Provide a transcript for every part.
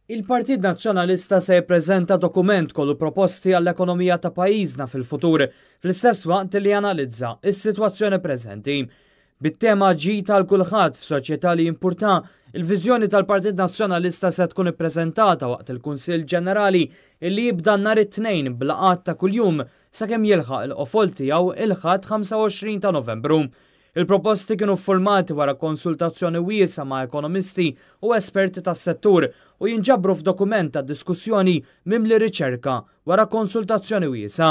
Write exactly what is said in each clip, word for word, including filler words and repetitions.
Il-Partit Nazzjonalista se jippreżenta dokument kollu proposti għall-ekonomija ta' pajjiżna fil-futur, fl-istess waqt li janalizza is-sitwazzjoni preżenti. Bit-tema "Ġid għal kulħadd f'soċjetà li jimpurta", il-viżjoni tal-Partit Nazzjonalista se tkun ippreżentata waqt il-Kunsill Ġenerali illi jibda nhar it-Tnejn b'laqgħat ta' kuljum sakemm jilħaq il-qofol tiegħu il-Ħadd ħamsa u għoxrin ta' Novembru. Il-proposti kienu formati wara konsultazzjoni wiesgħa ma' ekonomisti u esperti tas-settur u jinġabru f'dokument ta' diskussjoni mimli riċerka wara konsultazzjoni wiesgħa.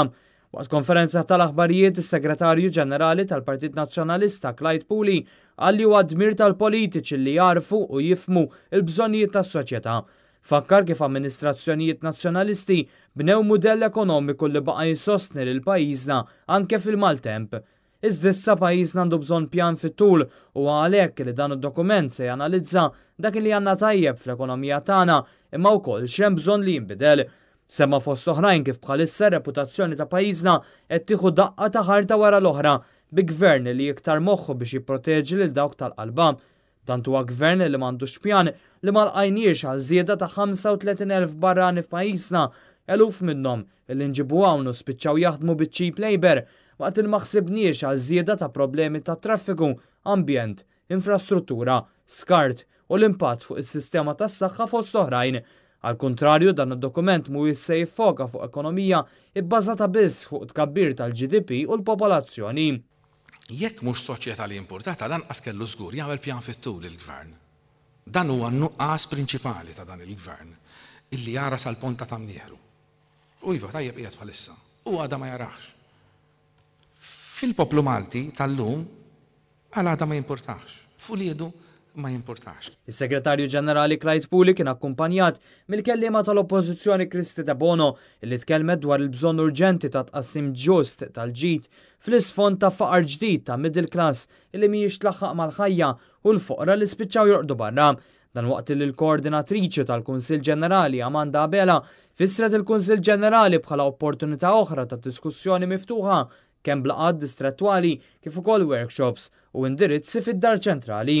Waqt konferenza tal-aħbarijiet, is-Segretarju Ġenerali tal-Partit Nazzjonalista Clyde Puli qal li huwa dmir tal-politiċi li jarfu u jifhmu il-bżonnijiet tas-soċjetà. Fakkar kif amministrazzjonijiet nazzjonalisti bnew mudell ekonomiku li baqa' jisostni lil pajjiżna anke fil-maltemp. Iżda issa pajjiżna għandu bżonn pjan fit-tul u għalhekk li dan id-dokument se janalizza dak li għandna tajjeb fl-ekonomija tagħna, imma wkoll x'hemm bżonn li jinbidel. Semma fost oħrajn kif bħalissa reputazzjoni ta' pajjiżna qed tieħu daqqa ta' ħarta wara l-oħra bi gvern li iktar moħħu biex jipproteġi lil dawk tal-qalba. Tant huwa gvern li m'għandux pjan li ma lqajniex għal żieda ta' ħamsa u tletin elf barrani f'pajjiżna, eluf minnhom li nġibu hawn u spiċċaw jaħdmu biċ-cheap labor, waqt il ma ħsibniex għal żieda ta' problemi ta' traffiku, ambjent, infrastruttura, skart u l-impatt fuq is-sistema tas-saħħa, fost oħrajn. Al kontrarju, dan id-dokument mhuwiex se jiffoka fuq ekonomija ibbażata biss fuq tkabbir tal-G D P u l-popolazzjoni. Jekk mhux soċjetà li importata, lanqas kellu żgur jagħmel pjan fit-tul il-gvern. Dan huwa n-nuqqas prinċipali ta' dan il-gvern, illi jara sal-ponta ta' mnieħru. U iva, tajjeb qiegħed bħalissa. U għada ma jarax. Fil-poplu Malti tal-lum għal għada ma jimpurtax. F'uliedu ma jimpurtax. Is-Segretarju Ġenerali Clyde Puli kien akkumpanjat mill-kellima tal-Oppożizzjoni Kristy Debono, li tkellmet dwar il-bżonn urġenti ta' tqassim ġust tal-ġid fl-isfond ta' faqar ġdid ta' middle class li mhijiex tlaħħaq mal-ħajja u l-foqra li spiċċaw jorqdu barra. Dan waqt li l-koordinatriċi tal-Kunsill Ġenerali Amanda Abela fissret il-Kunsill Ġenerali bħala opportunità oħra ta' diskussjoni miftuħa, kemm b'laqgħat distrettwali kif ukoll workshops u indirizzi fid-Dar Ċentrali.